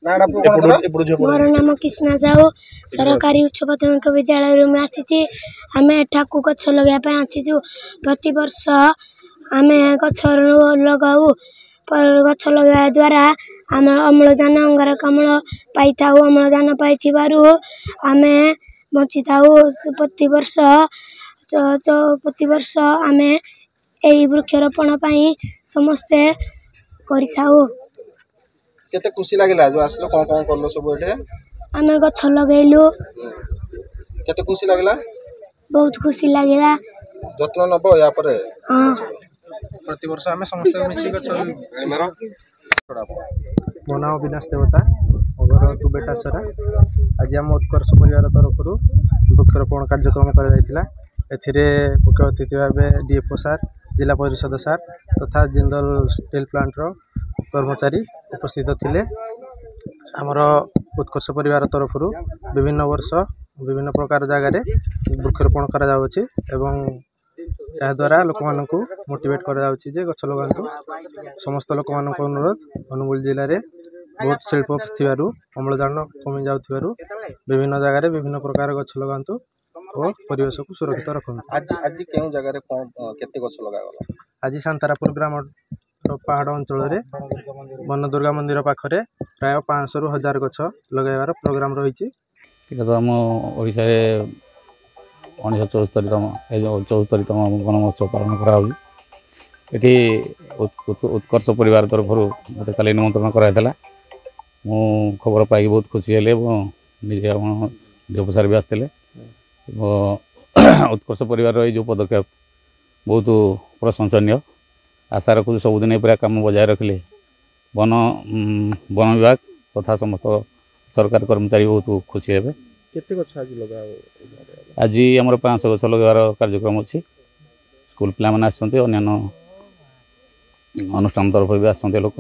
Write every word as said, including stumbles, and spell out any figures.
ନାଁଟା ପୁଅ କଣ ତୋର? ମୋର ନାମ କ୍ରିଷ୍ଣା ସାହୁ। ସରକାରୀ ଉଚ୍ଚ ପ୍ରାଥମିକ ବିଦ୍ୟାଳୟରୁ ମୁଁ ଆସିଛି। ଆମେ ଏଠାକୁ ଗଛ ଲଗାଇବା ପାଇଁ ଆସିଛୁ। ପ୍ରତିବର୍ଷ ଆମେ ଗଛ ଲଗାଉ। ଗଛ ଲଗାଇବା ଦ୍ୱାରା ଆମେ ଅମ୍ଳଜାନ, ଅଙ୍ଗାରକାମ୍ଳ ପାଇଥାଉ। ଅମ୍ଳଜାନ ପାଇଥିବାରୁ ଆମେ ବଞ୍ଚିଥାଉ। ପ୍ରତିବର୍ଷ ପ୍ରତିବର୍ଷ ଆମେ ଏହି ବୃକ୍ଷରୋପଣ ପାଇଁ ସମସ୍ତେ କରିଥାଉ। କେତେ ଖୁସି ଲାଗିଲା ଯୋଉ ଆସିଲ? କଣ କଣ କଲ ସବୁ ଏଠି? ଆମେ ଗଛ ଲଗେଇଲୁ। କେତେ ଖୁସି ଲାଗିଲା? ବହୁତ ଖୁସି ଲାଗିଲା। ଯତ୍ନ ନବ ୟା ପରେ? ହଁ। ପ୍ରତିବର୍ଷ ଆମେ ସମସ୍ତେ ମିଶି ଗଛ। ମୋ ନାଁ ଅବିନାଶ ଦେବତା, ମୋ ଘର ତୁବେଟାସରା। ଆଜି ଆମ ଉତ୍କର୍ଷ ପରିବାର ତରଫରୁ ବୃକ୍ଷରୋପଣ କାର୍ଯ୍ୟକ୍ରମ କରାଯାଇଥିଲା। ଏଥିରେ ମୁଖ୍ୟ ଅତିଥି ଭାବେ ଡି ଏଫ୍ ଓ ସାର୍, ଜିଲ୍ଲା ପରିଷଦ ସାର୍ ତଥା ଜିନ୍ଦଲ ଷ୍ଟିଲ୍ ପ୍ଲାଣ୍ଟର କର୍ମଚାରୀ ଉପସ୍ଥିତ ଥିଲେ। ଆମର ଉତ୍କର୍ଷ ପରିବାର ତରଫରୁ ବିଭିନ୍ନ ବର୍ଷ ବିଭିନ୍ନ ପ୍ରକାର ଜାଗାରେ ବୃକ୍ଷରୋପଣ କରାଯାଉଅଛି ଏବଂ ଏହାଦ୍ୱାରା ଲୋକମାନଙ୍କୁ ମୋଟିଭେଟ୍ କରାଯାଉଛି ଯେ ଗଛ ଲଗାନ୍ତୁ। ସମସ୍ତ ଲୋକମାନଙ୍କୁ ଅନୁରୋଧ, ଅନୁଗୁଳ ଜିଲ୍ଲାରେ ବହୁତ ଶିଳ୍ପ ଥିବାରୁ ଅମ୍ଳଜାନ କମି ଯାଉଥିବାରୁ ବିଭିନ୍ନ ଜାଗାରେ ବିଭିନ୍ନ ପ୍ରକାର ଗଛ ଲଗାନ୍ତୁ ଓ ପରିବେଶକୁ ସୁରକ୍ଷିତ ରଖନ୍ତୁ। ଆଜି ଆଜି କେଉଁ ଜାଗାରେ କଣ କେତେ ଗଛ ଲଗାଗଲା? ଆଜି ସାନ୍ତାରାପୁର ଗ୍ରାମର ପାହାଡ଼ ଅଞ୍ଚଳରେ ବନଦୁର୍ଗା ମନ୍ଦିର ପାଖରେ ପ୍ରାୟ ପାଞ୍ଚଶହରୁ ହଜାର ଗଛ ଲଗାଇବାର ପ୍ରୋଗ୍ରାମ ରହିଛି। ଏଇଟା ତ ଆମ ଓଡ଼ିଶାରେ ଉଣେଇଶହ ଚଉସ୍ତରୀତମ, ଏ ଯେଉଁ ଚଉସ୍ତରୀତମ ବନ ମହୋତ୍ସବ ପାଳନ କରାହେଉଛି। ଏଠି ଉତ୍କର୍ଷ ପରିବାର ତରଫରୁ ମୋତେ କାଲି ନିମନ୍ତ୍ରଣ କରାଯାଇଥିଲା। ମୁଁ ଖବର ପାଇକି ବହୁତ ଖୁସି ହେଲି ଏବଂ ନିଜେ ଆମ ଦେବ ସାର୍ ବି ଆସିଥିଲେ। ଉତ୍କର୍ଷ ପରିବାରର ଏଇ ଯେଉଁ ପଦକ୍ଷେପ ବହୁତ ପ୍ରଶଂସନୀୟ। ଆଶା ରଖୁଛୁ ସବୁଦିନ ଏପରି କାମ ବଜାୟ ରଖିଲେ ବନ ବନ ବିଭାଗ ତଥା ସମସ୍ତ ସରକାର କର୍ମଚାରୀ ବହୁତ ଖୁସି ହେବେ। କେତେ ଗଛ ଆଜି ଲଗା? ଆଜି ଆମର ପାଞ୍ଚଶହ ଗଛ ଲଗାଇବାର କାର୍ଯ୍ୟକ୍ରମ ଅଛି। ସ୍କୁଲ ପିଲାମାନେ ଆସିଛନ୍ତି, ଅନ୍ୟାନ୍ୟ ଅନୁଷ୍ଠାନ ତରଫରୁ ବି ଆସିଛନ୍ତି ଲୋକ।